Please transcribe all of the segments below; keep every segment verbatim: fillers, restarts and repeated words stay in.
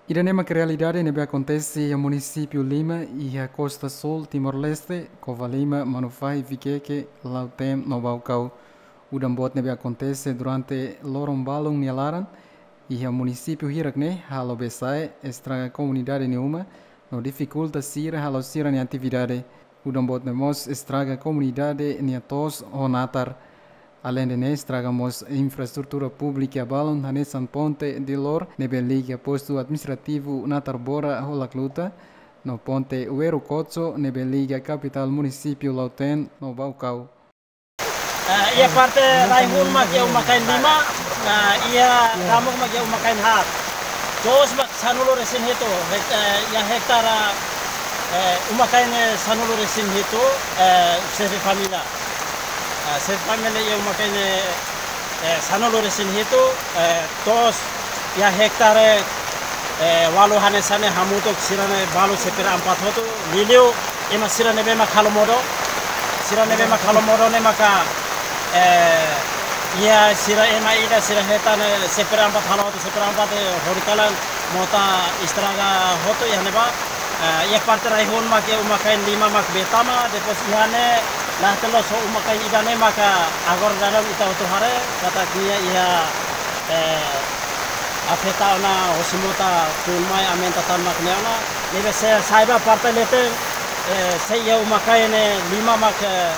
Ida-ne'e mak realidade ne'ebé akontese iha munisípiu lima iha kosta súl Timor-Leste, Covalima, Manufahi, Viqueque, Lautém no Baucau. Udan boot ne'ebé akontese durante loron balun nia laran iha munisípiu hirak-ne'e halo besa'e, estraga komunidade nia uma no difikulta sira halo sira-nia atividade. Udan boot ne'e mós estraga komunidade nia to'os ho natar. Aleinde ne'e, estraga mós infraestrutura públika balun hanesan ponte de lor ne'ebé liga postu administrativu Natarbora ho Lacluta, no ponte Weru Kotso ne'ebé liga kapitál munisípiu Lautém no Baucau. Eh, iha parte rai-hun mak iha uma-kain lima, eh, iha ramuk mak iha uma-kain haat. To'os mak sanulu-resin-hitu, hek-, eh, iha hektare, eh, uma-kain, eh, sanulu-resin-hitu, eh, xefe família. Eh, xefe família iha uma-kain, eh, eh, sanulu-resin-hitu, eh, to'os iha hektare, eh, ualu hanesan ne'e hamutuk sira-ne'e balu seperempat hotu, liuliu ema sira ne'ebé mak halo modo, sira ne'ebé mak halo modo ne'e maka, eh, iha sira ema ida sira hetan, eh, seperempat halo hotu, seperempat, eh, horikalan mota estraga hotu iha ne'ebá. Eh, iha parte rai-hun mak iha uma-kain lima mak bee tama, depois iha ne'e la telos uma-kain ida-ne'e maka agora daudaun ita hotu haree katak nia iha, eh, afeta ona hosi mota tun mai aumenta tan mak ne'e ona. Ne'ebé se sa'e ba parte leten, eh, sei iha uma-kain ne'e lima mak, eh,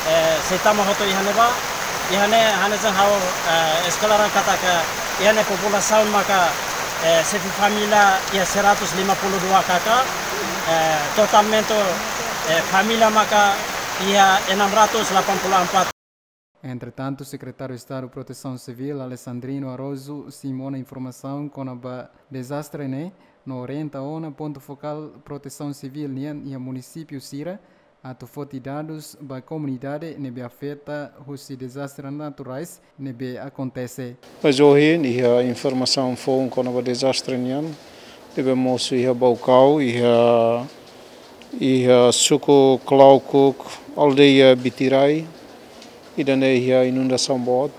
eh, sei tama hotu iha ne'ebá. Iha ne'e hanesan ha'u, eh, esplika katak iha ne'e populasaun maka, eh, xefe família iha seratus lima puluh dua K K, eh, totalmente, eh, família maka iha enam ratus delapan puluh empat. Entretantu, Sekretáriu Estadu Protesaun Sivíl, Alexandrino Araújo, simu ona informasaun kona-ba dezastre ne'e, no orienta ona pontu fokál Protesaun Sivíl nian iha munisípiu sira, atu foti dadus ba komunidade ne'ebé afeta husi dezastre naturais ne'ebé akontese. Mas ohin iha informasaun foun kona-ba dezastre nian, ne'ebé mosu iha Baucau, iha, iha suku Claucuc, aldeia Bitirai, ida-ne'e iha inundasaun boot,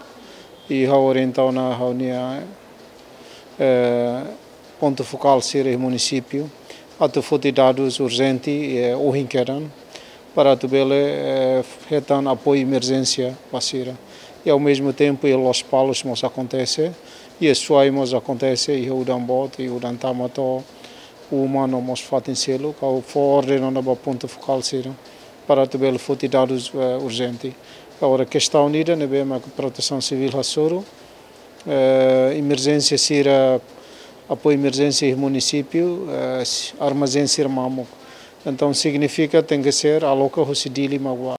i ha'u orienta ona ha'u-nia, eh, pontu fokál sira iha munisípiu, atu foti dadus urjente, eh, ohin kedan, para atu bele, eh, hetan apoiu emerjénsia ba sira. I ao mesmo tempo, iha Lospalos mós akontese, iha Suai mós akontese, iha udan boot, i udan tama to'o uma no mós fatin seluk, ha'u fó orden ona ba pontu fokál sira para atu bele foti dadus, eh, urjente. Agora, kestaun ida ne'ebé mak Protesaun Sivíl hasoru, eh, emerjénsia sira, apoiu emerjénsia iha munisípiu, eh, s-, armazén sira mamuk. Entaun, signifika tenke ser aloka husi Dili mak bá.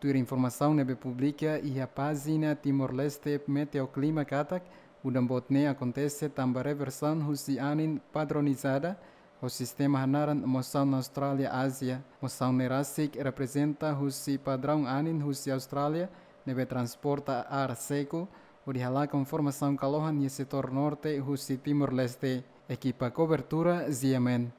Tuir informasaun ne'ebé publika iha pájina Timor-Leste Meteoclima katak, udan boot ne'e akontese tanba reversaun husi anin padronizada ho sistema hanaran Mosaun Austrália Ázia. Mosaun ne'e rasik reprezenta husi padraun anin husi Austrália ne'ebé transporta ar seku, hodi halakon formasaun kalohan iha setór norte husi Timor-Leste. Ekipa kobertura, G M N.